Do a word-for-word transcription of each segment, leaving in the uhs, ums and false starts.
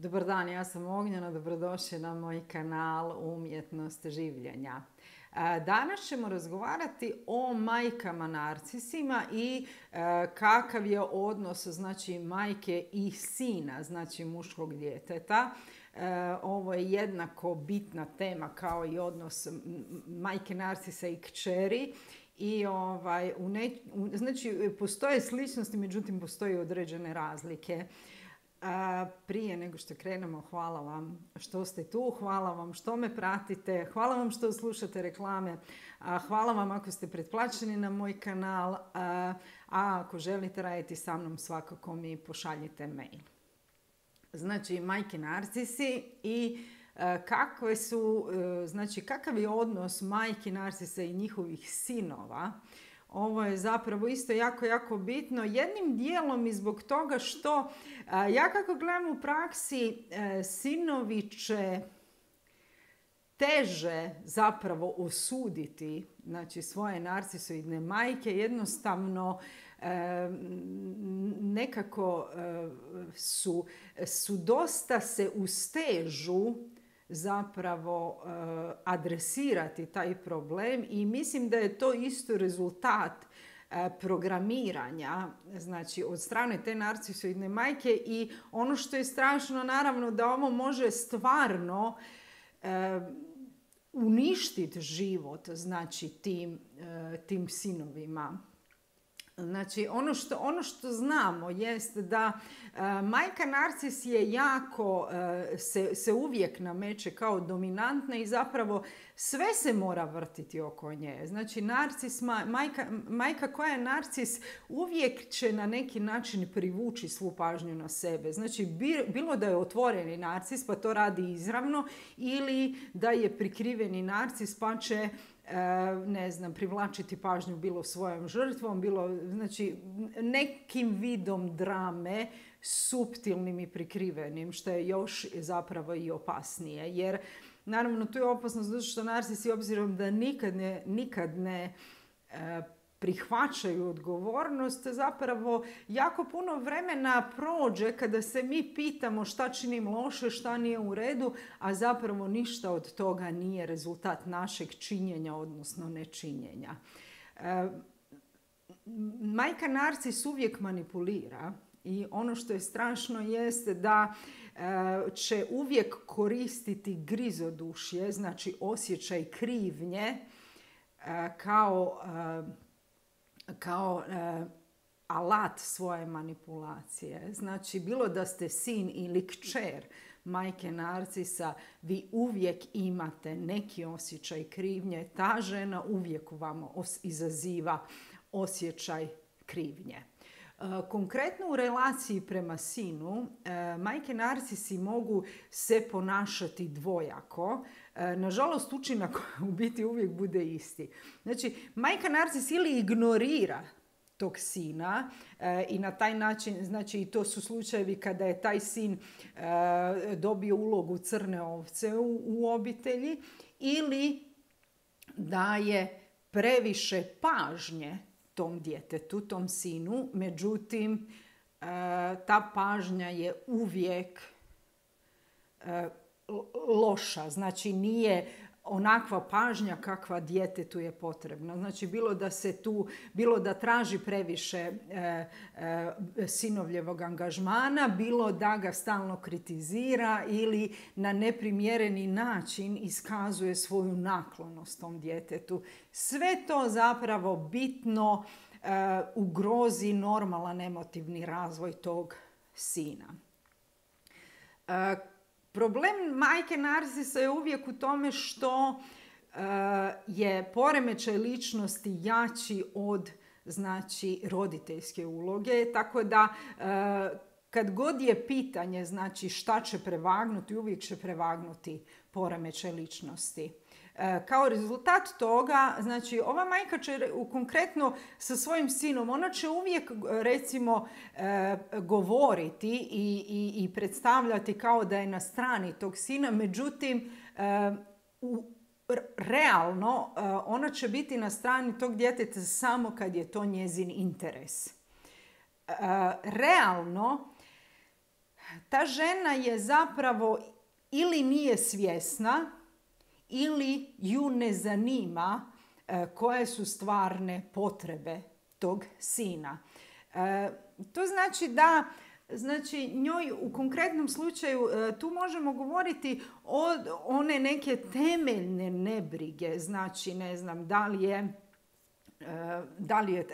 Dobar dan, ja sam Ognjena, dobrodošli na moj kanal Umjetnost življenja. Danas ćemo razgovarati o majkama narcisima i kakav je odnos, znači, majke i sina, znači muškog djeteta. Ovo je jednako bitna tema kao i odnos majke narcisa i kćeri. I ovaj, u ne, u, znači, postoje sličnosti, međutim postoje određene razlike. A, prije nego što krenemo, hvala vam što ste tu, hvala vam što me pratite, hvala vam što slušate reklame, a, hvala vam ako ste pretplaćeni na moj kanal, a, a ako želite raditi sa mnom, svakako mi pošaljite mail. Znači, majke narcisi i a, kakve su, a, znači kakav je odnos majki narcisa i njihovih sinova. Ovo je zapravo isto jako, jako bitno. Jednim dijelom i zbog toga što ja kako gledam u praksi, sinovi će teže zapravo osuditi, znači, svoje narcisoidne majke. Jednostavno nekako su, su dosta se ustežu zapravo adresirati taj problem i mislim da je to isto rezultat programiranja, znači, od strane te narcisoidne majke. I ono što je strašno, naravno, da ovo može stvarno uništiti život, znači, tim, tim sinovima. Znači, ono što, ono što znamo jest da uh, majka narcis je jako, uh, se, se uvijek nameće kao dominantna i zapravo sve se mora vrtiti oko nje. Znači, narcis, majka, majka koja je narcis uvijek će na neki način privući svu pažnju na sebe. Znači, bilo da je otvoreni narcis pa to radi izravno, ili da je prikriveni narcis pa će ne znam, privlačiti pažnju bilo svojom žrtvom, bilo, znači, nekim vidom drame, suptilnim i prikrivenim, što je još zapravo i opasnije. Jer, naravno, tu je opasnost zato što narcisi, obzirom da nikad ne, nikad ne e, prihvaćaju odgovornost, zapravo jako puno vremena prođe kada se mi pitamo šta činim loše, šta nije u redu, a zapravo ništa od toga nije rezultat našeg činjenja, odnosno nečinjenja. E, majka narcis uvijek manipulira i ono što je strašno jeste da e, će uvijek koristiti grizodušje, znači osjećaj krivnje, e, kao e, kao e, alat svoje manipulacije. Znači, bilo da ste sin ili kćer majke narcisa, vi uvijek imate neki osjećaj krivnje. Ta žena uvijek u vama os- izaziva osjećaj krivnje. E, konkretno u relaciji prema sinu, e, majke narcisi mogu se ponašati dvojako. E, nažalost, učinak u biti uvijek bude isti. Znači, majka narcis ili ignorira tog sina e, i na taj način, znači, i to su slučajevi kada je taj sin e, dobio ulogu crne ovce u, u obitelji, ili daje previše pažnje tom djetetu, tom sinu, međutim, e, ta pažnja je uvijek e, loša, znači nije onakva pažnja kakva djetetu je potrebna. Znači, bilo da se tu, bilo da traži previše e, e, sinovljevog angažmana, bilo da ga stalno kritizira ili na neprimjereni način iskazuje svoju naklonost tom djetetu. Sve to zapravo bitno e, ugrozi normalan emotivni razvoj tog sina. E, Problem majke narcisa je uvijek u tome što uh, je poremećaj ličnosti jači od, znači, roditeljske uloge. Tako da uh, kad god je pitanje, znači, šta će prevagnuti, uvijek će prevagnuti poremećaj ličnosti. Kao rezultat toga, znači, ova majka će konkretno sa svojim sinom, ona će uvijek, recimo, govoriti i, i, i predstavljati kao da je na strani tog sina, međutim, u, realno ona će biti na strani tog djeteta samo kad je to njezin interes. Realno, ta žena je zapravo ili nije svjesna ili ju ne zanima koje su stvarne potrebe tog sina. To znači da Znači, njoj u konkretnom slučaju tu možemo govoriti o one neke temeljne nebrige. Znači, ne znam, da li je, da li je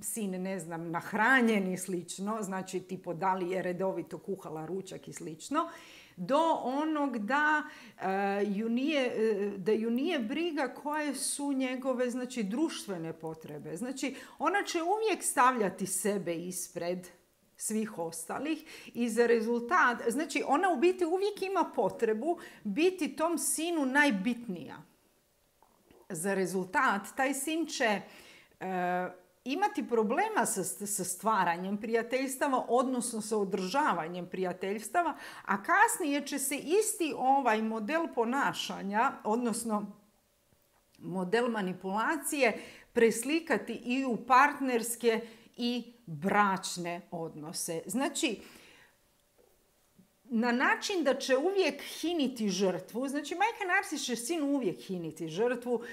sin, ne znam, nahranjen i slično. Znači, tipo, da li je redovito kuhala ručak i slično. Do onog da, ju nije, da ju nije briga koje su njegove, znači, društvene potrebe. Znači, ona će uvijek stavljati sebe ispred svih ostalih i za rezultat, znači ona u biti uvijek ima potrebu biti tom sinu najbitnija. Za rezultat taj sin će e, imati problema sa, sa stvaranjem prijateljstava, odnosno sa održavanjem prijateljstava, a kasnije će se isti ovaj model ponašanja, odnosno model manipulacije, preslikati i u partnerske i bračne odnose. Znači, na način da će uvijek hiniti žrtvu, znači majka narcis će sin uvijek hiniti žrtvu, uh,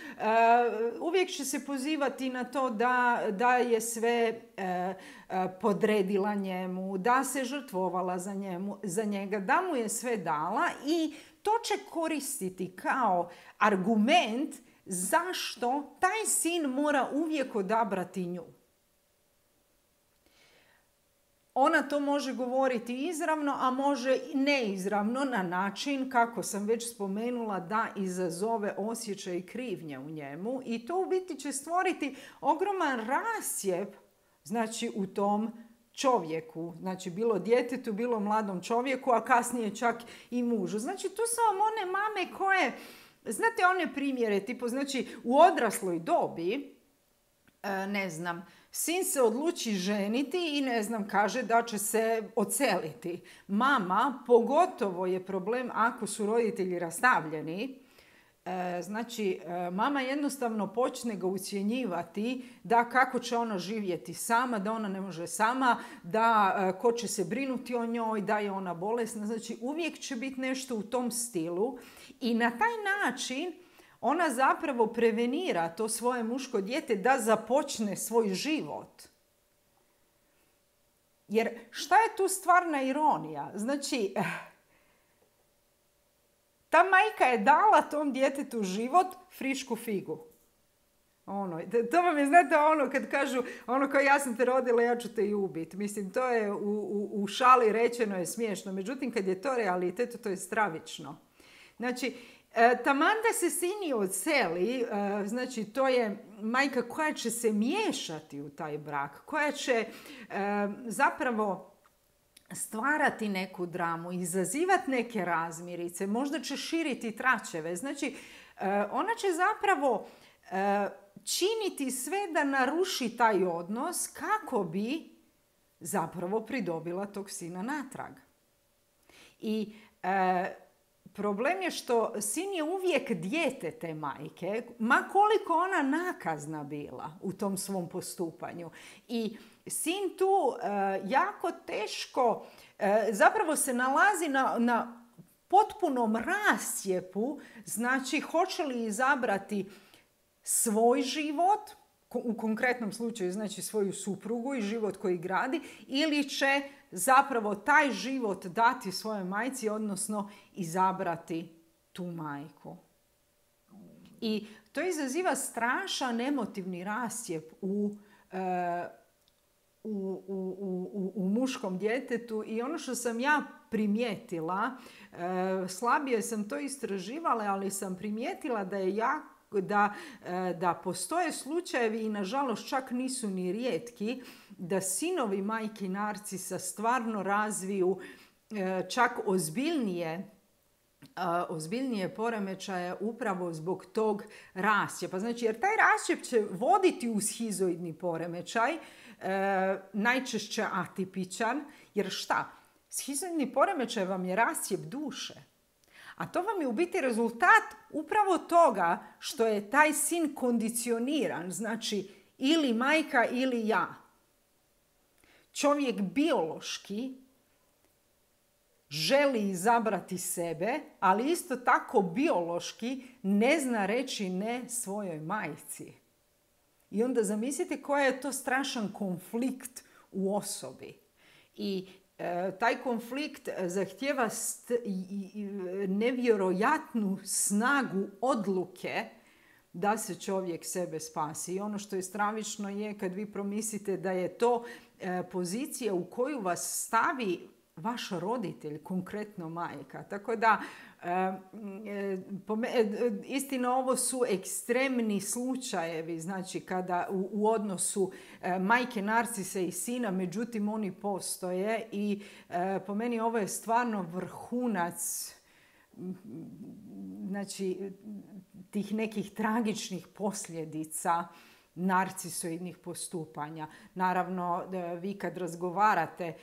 uvijek će se pozivati na to da, da je sve uh, uh, podredila njemu, da se žrtvovala za, njemu, za njega, da mu je sve dala i to će koristiti kao argument zašto taj sin mora uvijek odabrati nju. Ona to može govoriti izravno, a može i neizravno na način, kako sam već spomenula, da izazove osjećaj krivnje u njemu. I to u biti će stvoriti ogroman rascjep, znači, u tom čovjeku. Znači, bilo djetetu, bilo mladom čovjeku, a kasnije čak i mužu. Znači, tu su vam one mame koje, znate one primjere, tipo, znači, u odrasloj dobi, ne znam, sin se odluči ženiti i ne znam, kaže da će se odseliti. Mama, pogotovo je problem ako su roditelji rastavljeni. E, znači, mama jednostavno počne ga ucjenjivati da kako će ona živjeti sama, da ona ne može sama, da ko će se brinuti o njoj, da je ona bolesna. Znači, uvijek će biti nešto u tom stilu i na taj način ona zapravo prevenira to svoje muško dijete da započne svoj život. Jer šta je tu stvarna ironija? Znači, ta majka je dala tom djetetu život, frišku figu. Ono, to vam je, znate, ono kad kažu, ono kao ja sam te rodila, ja ću te i ubiti. Mislim, to je u, u, u šali rečeno je smiješno. Međutim, kad je to realitet, to je stravično. Znači, taman da se sini odseli, znači to je majka koja će se miješati u taj brak, koja će zapravo stvarati neku dramu, izazivati neke razmirice, možda će širiti tračeve. Znači, ona će zapravo činiti sve da naruši taj odnos kako bi zapravo pridobila tog sina natrag. I problem je što sin je uvijek dijete te majke, ma koliko ona nakazna bila u tom svom postupanju. I sin tu uh, jako teško uh, zapravo se nalazi na, na potpunom rascjepu, znači hoće li izabrati svoj život, u konkretnom slučaju znači svoju suprugu i život koji gradi, ili će zapravo taj život dati svojoj majci, odnosno izabrati tu majku. I to izaziva strašan emotivni rascjep u, u, u, u, u muškom djetetu i ono što sam ja primijetila, slabije sam to istraživala, ali sam primijetila da je jako Da, da postoje slučajevi i nažalost čak nisu ni rijetki da sinovi majki narcisa stvarno razviju čak ozbiljnije, ozbiljnije poremećaje upravo zbog tog rascjepa. Znači, jer taj rascjep će voditi u shizoidni poremećaj, najčešće atipičan, jer šta? Shizoidni poremećaj vam je rascjep duše. A to vam je u biti rezultat upravo toga što je taj sin kondicioniran, znači ili majka ili ja. Čovjek biološki želi izabrati sebe, ali isto tako biološki ne zna reći ne svojoj majci. I onda zamislite koji je to strašan konflikt u osobi. I e, taj konflikt zahtijeva st- i, i, nevjerojatnu snagu odluke da se čovjek sebe spasi. I ono što je stravično je kad vi promislite da je to e, pozicija u koju vas stavi vaš roditelj, konkretno majka. Tako da, e, e, istina, ovo su ekstremni slučajevi, znači kada u, u odnosu e, majke narcise i sina, međutim oni postoje i e, po meni ovo je stvarno vrhunac, znači, tih nekih tragičnih posljedica narcisoidnih postupanja. Naravno, vi kad razgovarate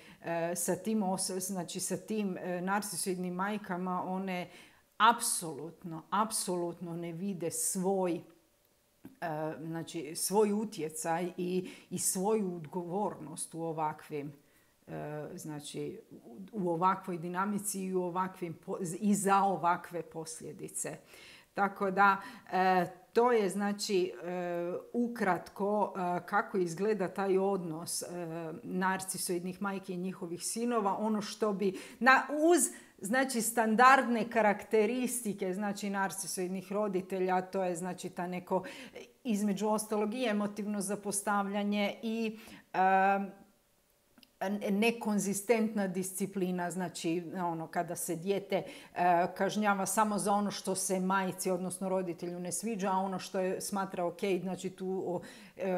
sa tim, znači sa tim narcisoidnim majkama, one apsolutno, apsolutno ne vide svoj, znači, svoj utjecaj i, i svoju odgovornost u ovakvim, znači, u ovakvoj dinamici i, u ovakvim, i za ovakve posljedice. Tako da, to je, znači, ukratko kako izgleda taj odnos narcisoidnih majki i njihovih sinova. Ono što bi, na, uz, znači, standardne karakteristike, znači, narcisoidnih roditelja, to je, znači, ta neko, između ostalog, i emotivno zapostavljanje i nekonzistentna disciplina, znači ono kada se dijete e, kažnjava samo za ono što se majci, odnosno roditelju, ne sviđa, a ono što je smatra ok, znači tu o, e,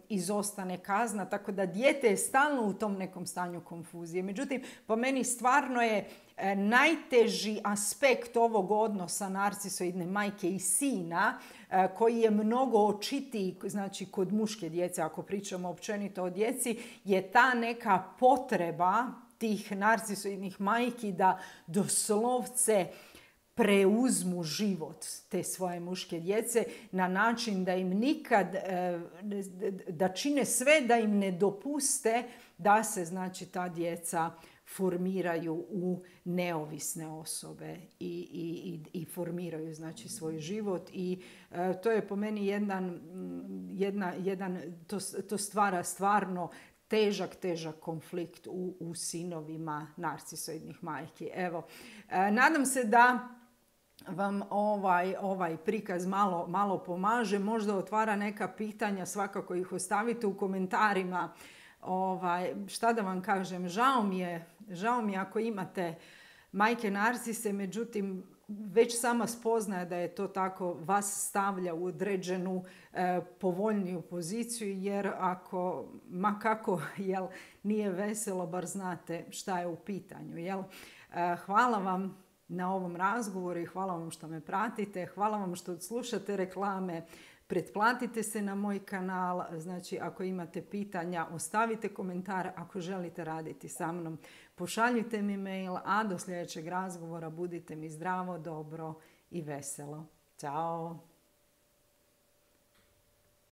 izostane kazna, tako da dijete je stalno u tom nekom stanju konfuzije. Međutim, po meni stvarno je e, najteži aspekt ovog odnosa narcisoidne majke i sina, e, koji je mnogo očitiji, znači kod muške djece, ako pričamo općenito o djeci, je ta neka potreba tih narcisoidnih majki da doslovce preuzmu život te svoje muške djece na način da im nikad, da čine sve da im ne dopuste da se, znači, ta djeca formiraju u neovisne osobe i, i, i formiraju, znači, svoj život. I e, to je po meni jedan, jedna, jedan to, to stvara stvarno težak, težak konflikt u, u sinovima narcisoidnih majki. Evo, e, nadam se da vam ovaj, ovaj prikaz malo, malo pomaže, možda otvara neka pitanja, svakako ih ostavite u komentarima. Ovaj, šta da vam kažem, žao mi je, žao mi je ako imate majke narcise, međutim, već sama spoznaja da je to tako vas stavlja u određenu e, povoljniju poziciju, jer ako, ma kako, jel, nije veselo, bar znate šta je u pitanju. Jel? E, hvala vam na ovom razgovoru i hvala vam što me pratite, hvala vam što slušate reklame, pretplatite se na moj kanal, znači ako imate pitanja ostavite komentar, ako želite raditi sa mnom pošaljite mi mail, a do sljedećeg razgovora budite mi zdravo, dobro i veselo. Ćao!